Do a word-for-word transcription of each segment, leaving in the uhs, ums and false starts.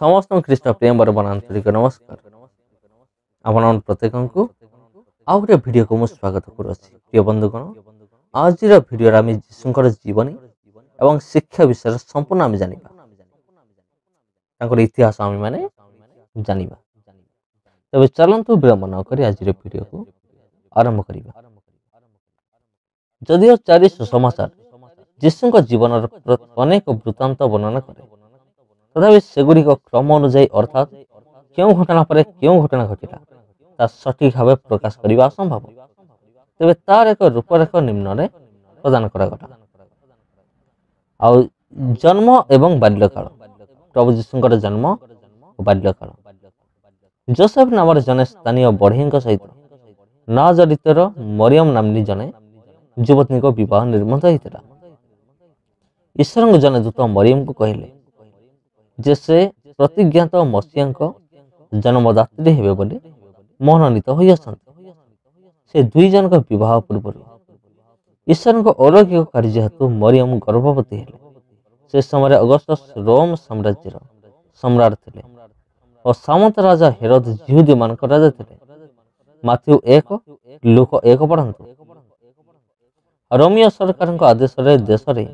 ସମସ୍ତଙ୍କୁ ଖ୍ରୀଷ୍ଟ ପ୍ରେମ ବରବନ ଆନ୍ତରିକ ନମସ୍କାର। ଆପଣ ପ୍ରତ୍ୟେକଙ୍କୁ ଆଉ ଗୋଟେ ଭିଡ଼ିଓକୁ ମୁଁ ସ୍ୱାଗତ କରୁଅଛି। ପ୍ରିୟ ବନ୍ଧୁଗଣ, ଆଜିର ଭିଡ଼ିଓରେ ଆମେ ଯୀଶୁଙ୍କର ଜୀବନୀ ଏବଂ ଶିକ୍ଷା ବିଷୟରେ ସମ୍ପୂର୍ଣ୍ଣ ଆମେ ଜାଣିବା, ତାଙ୍କର ଇତିହାସ ଆମେମାନେ ଜାଣିବା। ତେବେ ଚାଲନ୍ତୁ ବିଳମ୍ବ ନ କରି ଆଜିର ଭିଡ଼ିଓକୁ ଆରମ୍ଭ କରିବା। ଯଦିଓ ଚାରି ସୁସମାଚାର ଯୀଶୁଙ୍କ ଜୀବନର ଅନେକ ବୃତ୍ତାନ୍ତ ବର୍ଣ୍ଣନା କରେ, ତଥାପି ସେଗୁଡ଼ିକ କ୍ରମ ଅନୁଯାୟୀ, ଅର୍ଥାତ୍ କେଉଁ ଘଟଣା ପରେ କେଉଁ ଘଟଣା ଘଟିଲା ତା ସଠିକ ଭାବେ ପ୍ରକାଶ କରିବା ଅସମ୍ଭବ। ତେବେ ତାର ଏକ ରୂପରେଖ ନିମ୍ନରେ ପ୍ରଦାନ କରାଗଲା। ଆଉ ଜନ୍ମ ଏବଂ ବାଲ୍ୟକାଳ। ପ୍ରଭୁ ଯୀଶୁଙ୍କର ଜନ୍ମ ଓ ବାଲ୍ୟକାଳ। ଜୋସେଫ ନାମରେ ଜଣେ ସ୍ଥାନୀୟ ବଢ଼େଇଙ୍କ ସହିତ ନାଜରିତର ମରିୟମ ନାମ୍ନୀ ଜଣେ ଯୁବତୀଙ୍କ ବିବାହ ନିର୍ବନ୍ଧ ହୋଇଥିଲା। ଈଶ୍ୱରଙ୍କ ଜଣେ ଦୂତ ମରିୟମକୁ କହିଲେ ଯେ ସେ ପ୍ରତିଜ୍ଞାତ ମସିହାଙ୍କ ଜନ୍ମଦାତ୍ରୀ ହେବେ ବୋଲି ମନୋନୀତ ହୋଇଅଛନ୍ତି। ସେ ଦୁଇ ଜଣଙ୍କ ବିବାହ ପୂର୍ବରୁ ଈଶ୍ୱରଙ୍କ ଅଲୌକିକ କାର୍ଯ୍ୟ ହେତୁ ମରିୟମ ଗର୍ଭବତୀ ହେଲେ। ସେ ସମୟରେ ଅଗଷ୍ଟସ୍ ରୋମ ସାମ୍ରାଜ୍ୟର ସମ୍ରାଟ ଥିଲେ ଓ ସାମନ୍ତ ରାଜା ହେରୋଦ ଜିହୁଦୀମାନଙ୍କ ରାଜା ଥିଲେ। ମାଥ୍ୟୁ ଏକ, ଲୂକ ଏକ ପଢ଼ନ୍ତୁ। ରୋମିଓ ସରକାରଙ୍କ ଆଦେଶରେ ଦେଶରେ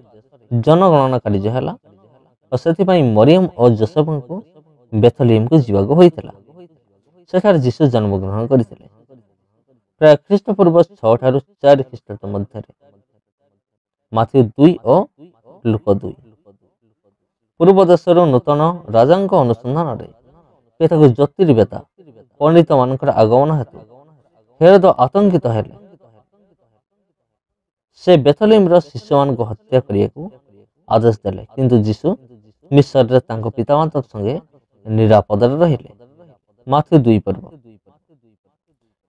ଜନଗଣନା କାର୍ଯ୍ୟ ହେଲା ଓ ସେଥିପାଇଁ ମରିୟମ ଓ ଜୋସେଫଙ୍କୁ ବେଥଲିୟମକୁ ଯିବାକୁ ହୋଇଥିଲା। ସେଠାରେ ଯୀଶୁ ଜନ୍ମଗ୍ରହଣ କରିଥିଲେ ପ୍ରାୟ ଖ୍ରୀଷ୍ଟପୂର୍ବ ଛଅ ଠାରୁ ଚାରି ଖ୍ରୀଷ୍ଟାବ୍ଦ ମଧ୍ୟରେ। ମାଥ୍ୟୁ ଦୁଇ ଓ ଲୂକ ଦୁଇ। ପୂର୍ବ ଦେଶରୁ ନୂତନ ରାଜାଙ୍କ ଅନୁସନ୍ଧାନରେ କେତେକ ଜ୍ୟୋତିର୍ବେତା ପଣ୍ଡିତମାନଙ୍କର ଆଗମନ ହେତୁ ହେରୋଦ ଆତଙ୍କିତ ହେଲେ। ସେ ବେଥଲିୟମର ଶିଶୁମାନଙ୍କୁ ହତ୍ୟା କରିବାକୁ ଆଦେଶ ଦେଲେ, କିନ୍ତୁ ଯୀଶୁ ମିଶରରେ ତାଙ୍କ ପିତାମାତାଙ୍କ ସଙ୍ଗେ ନିରାପଦରେ ରହିଲେ। ମାଥ୍ୟୁ ଦୁଇ ପର୍ବ।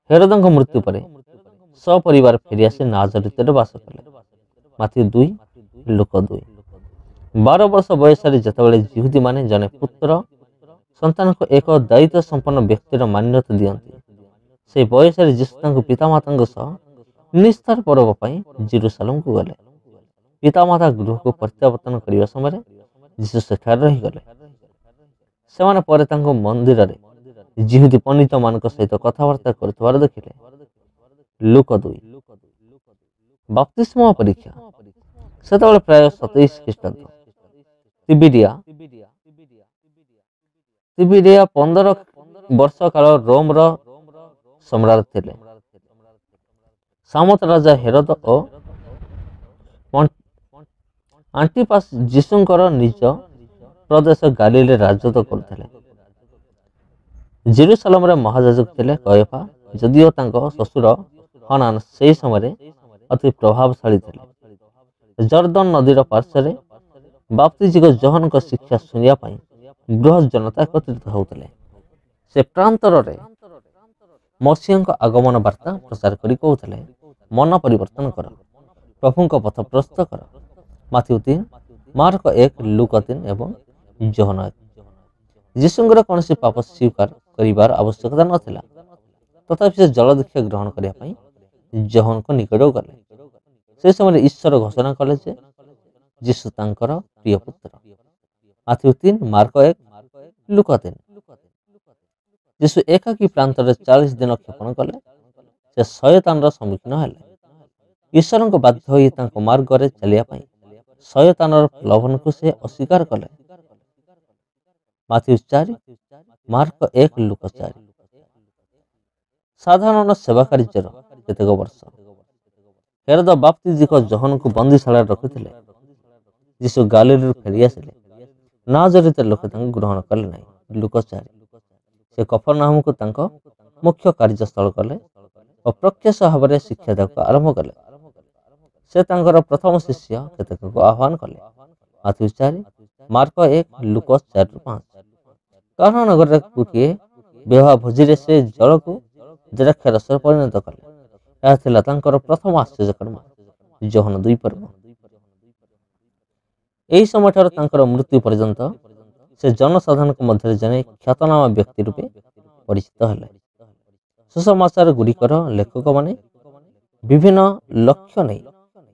ହେରୋଦଙ୍କ ମୃତ୍ୟୁ ପରେ ସପରିବାର ଫେରିଆସି ନାଜରିତରେ ବାସ କଲେ। ମାଥ୍ୟୁ ଦୁଇ, ଲୂକ ଦୁଇ। ବାର ବର୍ଷ ବୟସରେ ଯେତେବେଳେ ଜିହୁଦୀମାନେ ଜଣେ ପୁତ୍ର ସନ୍ତାନକୁ ଏକ ଦାୟିତ୍ୱ ସମ୍ପନ୍ନ ବ୍ୟକ୍ତିର ମାନ୍ୟତା ଦିଅନ୍ତି, ସେହି ବୟସରେ ଯୀଶୁ ତାଙ୍କ ପିତାମାତାଙ୍କ ସହ ନିସ୍ତାର ପର୍ବ ପାଇଁ ଜିରୁସାଲମକୁ ଗଲେ। ପିତାମାତା ଗୃହକୁ ପ୍ରତ୍ୟାବର୍ତ୍ତନ କରିବା ସମୟରେ ଯୀଶୁ ସେଠାରେ ରହିଗଲେ। ସେମାନେ ପରେ ତାଙ୍କୁ ମନ୍ଦିରରେ ଜିହୁଦୀ ପଣ୍ଡିତମାନଙ୍କ ସହିତ କଥାବାର୍ତ୍ତା କରୁଥିବାର ଦେଖିଲେ। ଲୂକ ଦୁଇ। ବାପ୍ତିସ୍ମ ପରୀକ୍ଷା। ସେତେବେଳେ ପ୍ରାୟ ସତେଇଶ ଖ୍ରୀଷ୍ଟାବ୍ଦ। ତିବିରିଆ ତିବିରିଆ ପନ୍ଦର ବର୍ଷ କାଳ ରୋମର ସମ୍ରାଟ ଥିଲେ। ସାମନ୍ତ ରାଜା ହେରୋଦ ଓ ଆଣ୍ଟିପାସ ଯୀଶୁଙ୍କର ନିଜ ପ୍ରଦେଶ ଗାଲିଲରେ ରାଜତ୍ୱ କରୁଥିଲେ। ଜେରୁସାଲମରେ ମହାଯାଜକ ଥିଲେ କୟଫା, ଯଦିଓ ତାଙ୍କ ଶ୍ୱଶୁର ହନାନ ସେହି ସମୟରେ ଅତି ପ୍ରଭାବଶାଳୀ ଥିଲେ। ଜର୍ଦ୍ଦନ ନଦୀର ପାର୍ଶ୍ୱରେ ବାପ୍ତିଜିକ ଯୋହନଙ୍କ ଶିକ୍ଷା ଶୁଣିବା ପାଇଁ ବୃହତ ଜନତା ଏକତ୍ରିତ ହେଉଥିଲେ। ସେ ପ୍ରାନ୍ତରରେ ମସିହଙ୍କ ଆଗମନ ବାର୍ତ୍ତା ପ୍ରଚାର କରି କହୁଥିଲେ, ମନ ପରିବର୍ତ୍ତନ କର, ପ୍ରଭୁଙ୍କ ପଥ ପ୍ରସ୍ତୁତ କର। ମାଥ୍ୟୁ ତିନି, ମାର୍କ ଏକ, ଲୂକ ତିନି ଏବଂ ଯୋହନ ଏକ। ଯୀଶୁଙ୍କର କୌଣସି ପାପ ସ୍ୱୀକାର କରିବାର ଆବଶ୍ୟକତା ନଥିଲା, ତଥାପି ସେ ଜଳଦୀକ୍ଷା ଗ୍ରହଣ କରିବା ପାଇଁ ଯୋହନଙ୍କ ନିକଟକୁ ଗଲେ। ସେ ସମୟରେ ଈଶ୍ୱର ଘୋଷଣା କଲେ ଯେ ଯୀଶୁ ତାଙ୍କର ପ୍ରିୟ ପୁତ୍ର। ମାଥ୍ୟୁ ତିନି, ମାର୍କ ଏକ, ଲୂକ ତିନି। ଯୀଶୁ ଏକାକୀ ପ୍ରାନ୍ତରେ ଚାଳିଶ ଦିନ କ୍ଷେପଣ କଲେ। ସେ ଶୟତାନର ସମ୍ମୁଖୀନ ହେଲେ। ଈଶ୍ୱରଙ୍କ ବାଧ୍ୟ ହୋଇ ତାଙ୍କ ମାର୍ଗରେ ଚାଲିବା ପାଇଁ ଶୟତାନର ପ୍ରଲୋଭନକୁ ସେ ଅସ୍ୱୀକାର କଲେ। ମାଥ୍ୟୁ ଚାରି, ମାର୍କ ଏକ, ଲୂକ ଚାରି। ସାଧାରଣ ସେବା କାର୍ଯ୍ୟର କେତେକ ବର୍ଷ ହେରୋଦ ବାପ୍ତିଜିକ ଯୋହନଙ୍କୁ ବନ୍ଦୀଶାଳାରେ ରଖିଥିଲେ। ଯୀଶୁ ଗାଲିଲରୁ ଫେରି ଆସିଲେ। ନାଜରିତ ଲୋକେ ତାଙ୍କୁ ଗ୍ରହଣ କଲେ ନାହିଁ। ଲୂକ ଚାରି। ସେ କଫରନାହମକୁ ତାଙ୍କ ମୁଖ୍ୟ କାର୍ଯ୍ୟସ୍ଥଳ କଲେ ଓ ପ୍ରତ୍ୟକ୍ଷ ଭାବରେ ଶିକ୍ଷା ଦେବାକୁ ଆରମ୍ଭ କଲେ। ସେ ତାଙ୍କର ପ୍ରଥମ ଶିଷ୍ୟ କେତେକଙ୍କୁ ଆହ୍ୱାନ କଲେ। ମାଥ୍ୟୁ ଚାରି, ମାର୍କ ଏକ, ଲୂକ ଚାରିରୁ ପାଞ୍ଚ। କାରଣ ନଗରରେ ଗୋଟିଏ ବିବାହ ଭୋଜିରେ ସେ ଜଳକୁ ଦ୍ରାକ୍ଷାରସରେ ପରିଣତ କଲେ। ଏହା ଥିଲା ତାଙ୍କର ପ୍ରଥମ ଆଶ୍ଚର୍ଯ୍ୟକର୍ମ। ଯୋହନ ଦୁଇ ପର୍ବ। ଏହି ସମୟଠାରୁ ତାଙ୍କର ମୃତ୍ୟୁ ପର୍ଯ୍ୟନ୍ତ ସେ ଜନସାଧାରଣଙ୍କ ମଧ୍ୟରେ ଜଣେ ଖ୍ୟାତନାମା ବ୍ୟକ୍ତି ରୂପେ ପରିଚିତ ହେଲେ। ସୁସମାଚାର ଗୁଡ଼ିକର ଲେଖକମାନେ ବିଭିନ୍ନ ଲକ୍ଷ୍ୟ ନେଇ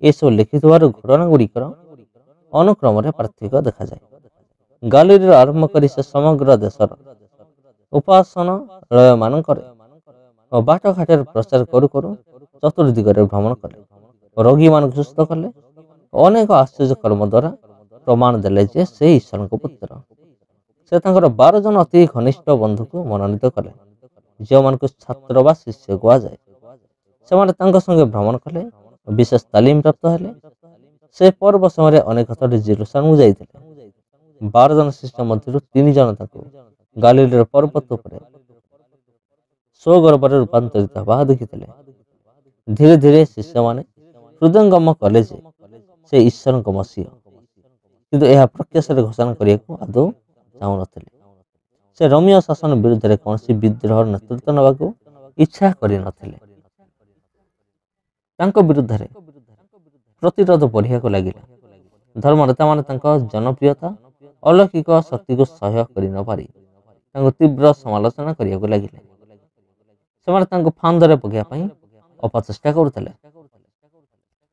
ଏସବୁ ଲେଖିଥିବାରୁ ଘଟଣା ଗୁଡ଼ିକର ଅନୁକ୍ରମରେ ପାର୍ଥକ୍ୟ ଦେଖାଯାଏ। ଗାଲିଲରୁ ଆରମ୍ଭ କରି ସେ ସମଗ୍ର ଦେଶର ଉପାସନାଳୟମାନଙ୍କରେ ଓ ବାଟଘାଟରେ ପ୍ରଚାର କରୁ କରୁ ଚତୁର୍ଦିଗରେ ଭ୍ରମଣ କଲେ, ରୋଗୀମାନଙ୍କୁ ସୁସ୍ଥ କଲେ, ଅନେକ ଆଶ୍ଚର୍ଯ୍ୟ କର୍ମ ଦ୍ୱାରା ପ୍ରମାଣ ଦେଲେ ଯେ ସେ ଈଶ୍ୱରଙ୍କ ପୁତ୍ର। ସେ ତାଙ୍କର ବାର ଜଣ ଅତି ଘନିଷ୍ଠ ବନ୍ଧୁକୁ ମନୋନୀତ କଲେ, ଯେଉଁମାନଙ୍କୁ ଛାତ୍ର ବା ଶିଷ୍ୟ କୁହାଯାଏ। ସେମାନେ ତାଙ୍କ ସଙ୍ଗେ ଭ୍ରମଣ କଲେ, ବିଶେଷ ତାଲିମ ପ୍ରାପ୍ତ ହେଲେ। ସେ ପର୍ବ ସମୟରେ ଅନେକ ଥର ଜେରୁସାଲେମକୁ ଯାଇଥିଲେ। ବାର ଜଣ ଶିଷ୍ୟ ମଧ୍ୟରୁ ତିନି ଜଣ ତାଙ୍କୁ ଗାଲିଲର ପର୍ବତ ଉପରେ ସ୍ୱଗର୍ଭରେ ରୂପାନ୍ତରିତ ହେବା ଦେଖିଥିଲେ। ଧୀରେ ଧୀରେ ଶିଷ୍ୟମାନେ ହୃଦୟଙ୍ଗମ କଲେ ଯେ ସେ ଈଶ୍ୱରଙ୍କ ମସିହ, କିନ୍ତୁ ଏହା ପ୍ରକାଶ୍ୟରେ ଘୋଷଣା କରିବାକୁ ଆଦୌ ଚାହୁଁନଥିଲେ। ସେ ରୋମୀୟ ଶାସନ ବିରୁଦ୍ଧରେ କୌଣସି ବିଦ୍ରୋହର ନେତୃତ୍ୱ ନେବାକୁ ଇଚ୍ଛା କରିନଥିଲେ। ତାଙ୍କ ବିରୁଦ୍ଧରେ ପ୍ରତିରୋଧ ବଢ଼ିବାକୁ ଲାଗିଲା। ଧର୍ମନେତାମାନେ ତାଙ୍କ ଜନପ୍ରିୟତା ଅଲୌକିକ ଶକ୍ତିକୁ ସହ୍ୟ କରିନପାରି ତାଙ୍କୁ ତୀବ୍ର ସମାଲୋଚନା କରିବାକୁ ଲାଗିଲେ। ସେମାନେ ତାଙ୍କୁ ଫାନ୍ଦରେ ପକାଇବା ପାଇଁ ଅପଚେଷ୍ଟା କରୁଥିଲେ।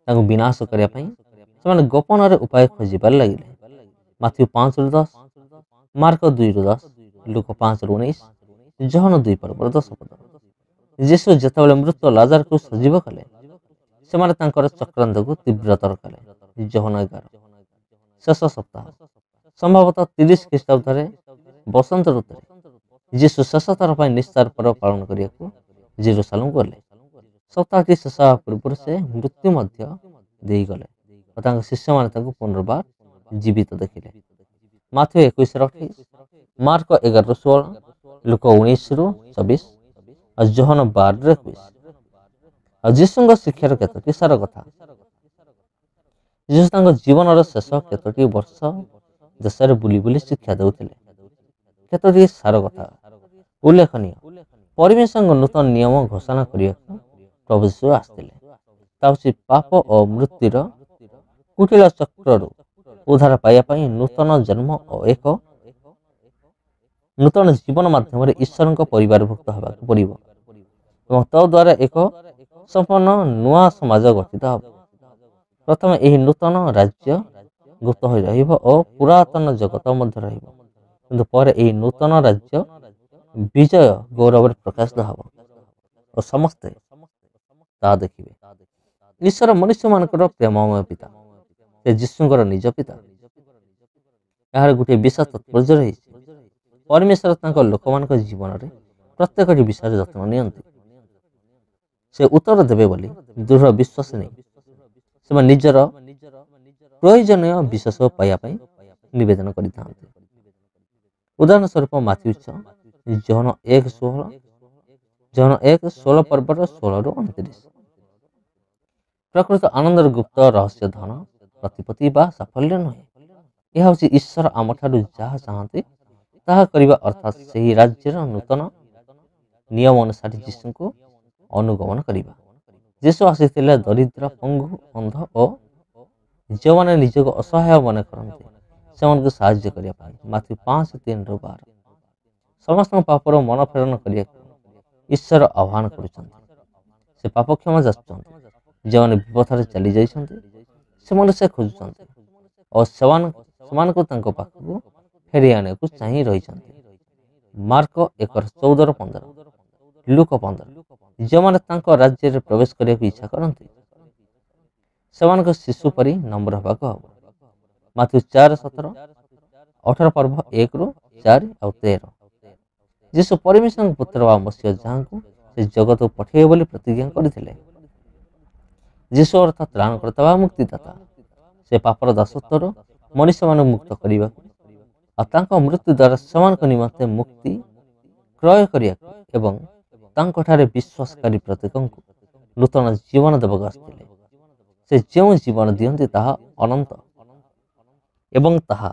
ତାଙ୍କୁ ବିନାଶ କରିବା ପାଇଁ ସେମାନେ ଗୋପନରେ ଉପାୟ ଖୋଜିବାରେ ଲାଗିଲେ। ମାଥ୍ୟୁ ପାଞ୍ଚରୁ ଦଶ, ମାର୍କ ଦୁଇରୁ ଦଶ, ଲୂକ ପାଞ୍ଚରୁ ଉଣେଇଶ, ଯୋହନ ଦୁଇ ପର୍ବର ଦଶ ପଦ। ଯୀଶୁ ଯେତେବେଳେ ମୃତ ଲାଜାରକୁ ସଜୀବ କଲେ, ସେମାନେ ତାଙ୍କର ଚକ୍ରାନ୍ତକୁ ତୀବ୍ରତର କଲେ। ଯୋହନ ଏଗାର। ଶେଷ ସପ୍ତାହ, ସମ୍ଭବତଃ ତିରିଶ ଖ୍ରୀଷ୍ଟାବ୍ଦରେ ବସନ୍ତ ଋତୁରେ ଯୀଶୁ ଶେଷ ଥର ପାଇଁ ନିସ୍ତାର ପର୍ବ ପାଳନ କରିବାକୁ ଜେରୁସାଲେମ ଗଲେ। ସପ୍ତାହଟି ଶେଷ ହେବା ପୂର୍ବରୁ ସେ ମୃତ୍ୟୁ ମଧ୍ୟ ଦେଇଗଲେ ଓ ତାଙ୍କ ଶିଷ୍ୟମାନେ ତାଙ୍କୁ ପୁନର୍ବାର ଜୀବିତ ଦେଖିଲେ। ମାଥ୍ୟୁ ଏକୋଇଶର ଅଠେଇଶ, ମାର୍କ ଏଗାରରୁ ଷୋହଳ, ଲୂକ ଉଣେଇଶରୁ ଚବିଶ ଆଉ ଯୋହନ ବାରରୁ ଏକୋଇଶ। ଆଉ ଯୀଶୁଙ୍କ ଶିକ୍ଷାର କେତୋଟି ସାର କଥା। ଯୀଶୁ ତାଙ୍କ ଜୀବନର ଶେଷ କେତୋଟି ବର୍ଷ ଦେଶରେ ବୁଲି ବୁଲି ଶିକ୍ଷା ଦେଉଥିଲେ। କେତୋଟି ସାର କଥା ଉଲ୍ଲେଖନୀୟ। ପରମେଶ୍ୱରଙ୍କ ନୂତନ ନିୟମ ଘୋଷଣା କରିବାକୁ ପ୍ରଭୁ ଯୀଶୁ ଆସିଥିଲେ। ତା ହେଉଛି ପାପ ଓ ମୃତ୍ୟୁର କୁଟିଳ ଚକ୍ରରୁ ଉଦ୍ଧାର ପାଇବା ପାଇଁ ନୂତନ ଜନ୍ମ ଓ ଏକ ନୂତନ ଜୀବନ ମାଧ୍ୟମରେ ଈଶ୍ୱରଙ୍କ ପରିବାରଭୁକ୍ତ ହେବାକୁ ପଡ଼ିବ ଏବଂ ତଦ୍ୱାରା ଏକ ସମ୍ପୂର୍ଣ୍ଣ ନୂଆ ସମାଜ ଗଠିତ ହେବ। ପ୍ରଥମେ ଏହି ନୂତନ ରାଜ୍ୟ ଗୁପ୍ତ ହୋଇ ରହିବ ଓ ପୁରାତନ ଜଗତ ମଧ୍ୟ ରହିବ, କିନ୍ତୁ ପରେ ଏହି ନୂତନ ରାଜ୍ୟ ବିଜୟ ଗୌରବରେ ପ୍ରକାଶିତ ହେବ ଓ ସମସ୍ତେ ତାହା ଦେଖିବେ। ଈଶ୍ୱର ମନୁଷ୍ୟମାନଙ୍କର ପ୍ରେମମୟ ପିତା। ସେ ଯୀଶୁଙ୍କର ନିଜ ପିତା। ଏହାର ଗୋଟିଏ ବିଶେଷ ତାତ୍ପର୍ଯ୍ୟ ରହିଛି। ପରମେଶ୍ୱର ତାଙ୍କ ଲୋକମାନଙ୍କ ଜୀବନରେ ପ୍ରତ୍ୟେକଟି ବିଷୟରେ ଯତ୍ନ ନିଅନ୍ତି। ସେ ଉତ୍ତର ଦେବେ ବୋଲି ଦୃଢ଼ ବିଶ୍ୱାସ ନେଇ ସେମାନେ ନିଜର ପ୍ରୟୋଜନୀୟ ବିଷୟ ପାଇବା ପାଇଁ ନିବେଦନ କରିଥାନ୍ତି। ଉଦାହରଣ ସ୍ୱରୂପ ମାଥ୍ୟୁ ଛଅ, ଯୋହନ ଏକ ଷୋହଳ, ଯୋହନ ଏକ ଷୋହଳ ପର୍ବର ଷୋହଳରୁ ଅଣତିରିଶ। ପ୍ରକୃତ ଆନନ୍ଦର ଗୁପ୍ତ ରହସ୍ୟ ଧନ, ପ୍ରତିପତ୍ତି ବା ସାଫଲ୍ୟ ନୁହେଁ। ଏହା ହେଉଛି ଈଶ୍ୱର ଆମଠାରୁ ଯାହା ଚାହାନ୍ତି ତାହା କରିବା, ଅର୍ଥାତ୍ ସେହି ରାଜ୍ୟର ନୂତନ ନିୟମ ଅନୁସାରେ ଯୀଶୁଙ୍କୁ ଅନୁଗମନ କରିବା। ଯୀଶୁ ଆସିଥିଲେ ଦରିଦ୍ର, ପଙ୍ଗୁ, ଅନ୍ଧ ଓ ଯେଉଁମାନେ ନିଜକୁ ଅସହାୟ ମନେ କରନ୍ତି ସେମାନଙ୍କୁ ସାହାଯ୍ୟ କରିବା ପାଇଁ। ମାଥ୍ୟୁ ପାଞ୍ଚ ତିନିରୁ ବାର। ସମସ୍ତଙ୍କ ପାପର ମନ ଫେରଣ କରିବାକୁ ଈଶ୍ୱର ଆହ୍ୱାନ କରୁଛନ୍ତି। ସେ ପାପ କ୍ଷମା ଯାଚୁଛନ୍ତି। ଯେଉଁମାନେ ବିପଥରେ ଚାଲି ଯାଇଛନ୍ତି ସେମାନଙ୍କୁ ସେ ଖୋଜୁଛନ୍ତି ଓ ସେମାନଙ୍କୁ ତାଙ୍କ ପାଖକୁ ଫେରାଇ ଆଣିବାକୁ ଚାହିଁ ରହିଛନ୍ତି। ମାର୍କ ଏକର ଚଉଦର ପନ୍ଦର, ଲୂକ ପନ୍ଦର। ଯେଉଁମାନେ ତାଙ୍କ ରାଜ୍ୟରେ ପ୍ରବେଶ କରିବାକୁ ଇଚ୍ଛା କରନ୍ତି ସେମାନଙ୍କ ଶିଶୁ ପରି ନମ୍ର ହେବାକୁ ହେବ। ମାଥ୍ୟୁ ଚାରି ସତର, ଅଠର ପର୍ବ ଏକରୁ ଚାରି ଆଉ ତେର। ଯୀଶୁ ପରମେଶ୍ୱରଙ୍କ ପୁତ୍ର ବା ମସିହ, ଯାହାଙ୍କୁ ସେ ଜଗତକୁ ପଠାଇବେ ବୋଲି ପ୍ରତିଜ୍ଞା କରିଥିଲେ। ଯୀଶୁ ଅର୍ଥାତ୍ ତ୍ରାଣକର୍ତ୍ତା ବା ମୁକ୍ତିଦାତା। ସେ ପାପର ଦାସତ୍ୱରୁ ମନୁଷ୍ୟମାନଙ୍କୁ ମୁକ୍ତ କରିବାକୁ ଆଉ ତାଙ୍କ ମୃତ୍ୟୁ ଦ୍ୱାରା ସେମାନଙ୍କ ନିମନ୍ତେ ମୁକ୍ତି କ୍ରୟ କରିବାକୁ ଏବଂ ତାଙ୍କଠାରେ ବିଶ୍ୱାସକାରୀ ପ୍ରତ୍ୟେକଙ୍କୁ ନୂତନ ଜୀବନ ଦେବାକୁ ଆସିଥିଲେ। ସେ ଯେଉଁ ଜୀବନ ଦିଅନ୍ତି ତାହା ଅନନ୍ତ ଏବଂ ତାହା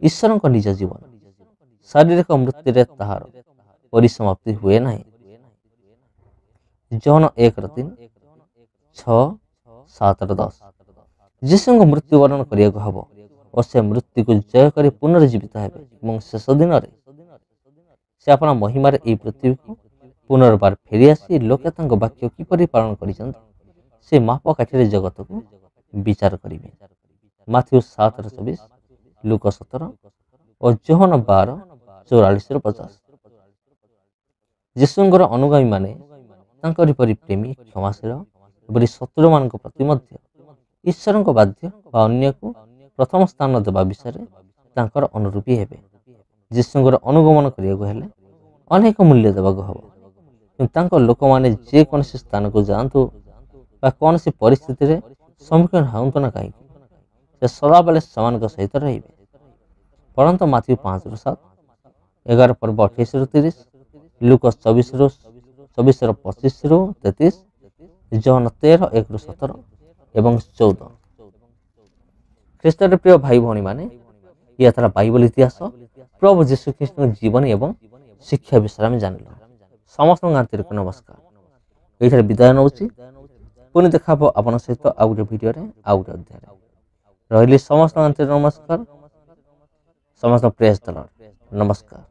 ଈଶ୍ୱରଙ୍କ ନିଜ ଜୀବନ। ଶାରୀରିକ ମୃତ୍ୟୁରେ ତାହାର ପରିସମାପ୍ତି ହୁଏ ନାହିଁ। ଯୋହନ ଏକର ତିନି, ଛଅ, ସାତର ଦଶ। ଯୀଶୁଙ୍କ ମୃତ୍ୟୁବରଣ କରିବାକୁ ହେବ ଓ ସେ ମୃତ୍ୟୁକୁ ଜୟ କରି ପୁନର୍ଜୀବିତ ହେବେ ଏବଂ ଶେଷ ଦିନରେ ସେ ଆପଣା ମହିମାରେ ଏହି ପୃଥିବୀକୁ ପୁନର୍ବାର ଫେରିଆସି ଲୋକେ ତାଙ୍କ ବାକ୍ୟ କିପରି ପାଳନ କରିଛନ୍ତି ସେ ମାପକାଠିରେ ଜଗତକୁ ବିଚାର କରିବେ। ମାଥ୍ୟୁ ସାତର ଚବିଶ, ଲୂକ ସତର, ଓ ଯୋହନ ବାର ଚଉରାଳିଶରୁ ପଚାଶ। ଯୀଶୁଙ୍କର ଅନୁଗାମୀମାନେ ତାଙ୍କରି ପରି ପ୍ରେମୀ, କ୍ଷମାଶୀଳ ଏପରି ଶତ୍ରୁମାନଙ୍କ ପ୍ରତି ମଧ୍ୟ ଈଶ୍ୱରଙ୍କ ବାଧ୍ୟ ବା ଅନ୍ୟକୁ ପ୍ରଥମ ସ୍ଥାନ ଦେବା ବିଷୟରେ ତାଙ୍କର ଅନୁରୂପୀ ହେବେ। ଯୀଶୁଙ୍କର ଅନୁଗମନ କରିବାକୁ ହେଲେ ଅନେକ ମୂଲ୍ୟ ଦେବାକୁ ହେବ, କିନ୍ତୁ ତାଙ୍କ ଲୋକମାନେ ଯେକୌଣସି ସ୍ଥାନକୁ ଯାଆନ୍ତୁ ବା କୌଣସି ପରିସ୍ଥିତିରେ ସମ୍ମୁଖୀନ ହୁଅନ୍ତୁ ନା କାହିଁକି, ସେ ସଦାବେଳେ ସେମାନଙ୍କ ସହିତ ରହିବେ। ପରନ୍ତୁ ମାଥ୍ୟୁ ପାଞ୍ଚରୁ ସାତ, ଏଗାର ପର୍ବ ଅଠେଇଶରୁ ତିରିଶ, ଲୁକ ଚବିଶରୁ ଚବିଶର ପଚିଶରୁ ତେତିଶ, ଯୋହନ ତେର ଏକରୁ ସତର ଏବଂ ଚଉଦ। ଖ୍ରୀଷ୍ଟର ପ୍ରିୟ ଭାଇ ଭଉଣୀମାନେ, ଇଏ ଥିଲା ବାଇବଲ ଇତିହାସ, ପ୍ରଭୁ ଯୀଶୁଖ୍ରୀଷ୍ଟଙ୍କ ଜୀବନୀ ଏବଂ ଶିକ୍ଷା ବିଷୟରେ ଆମେ ଜାଣିଲୁ। ସମସ୍ତଙ୍କ ଆନ୍ତରିକ ନମସ୍କାର। ଏଇଠାରେ ବିଦାୟ ନେଉଛି। ପୁଣି ଦେଖା ହେବ ଆପଣଙ୍କ ସହିତ ଆଉ ଗୋଟେ ଭିଡ଼ିଓରେ, ଆଉ ଗୋଟେ ଅଧ୍ୟାୟରେ। ରହିଲି, ସମସ୍ତଙ୍କ ଆନ୍ତରିକ ନମସ୍କାର। ସମସ୍ତ ପ୍ରେସ୍ ଦଳ ନମସ୍କାର।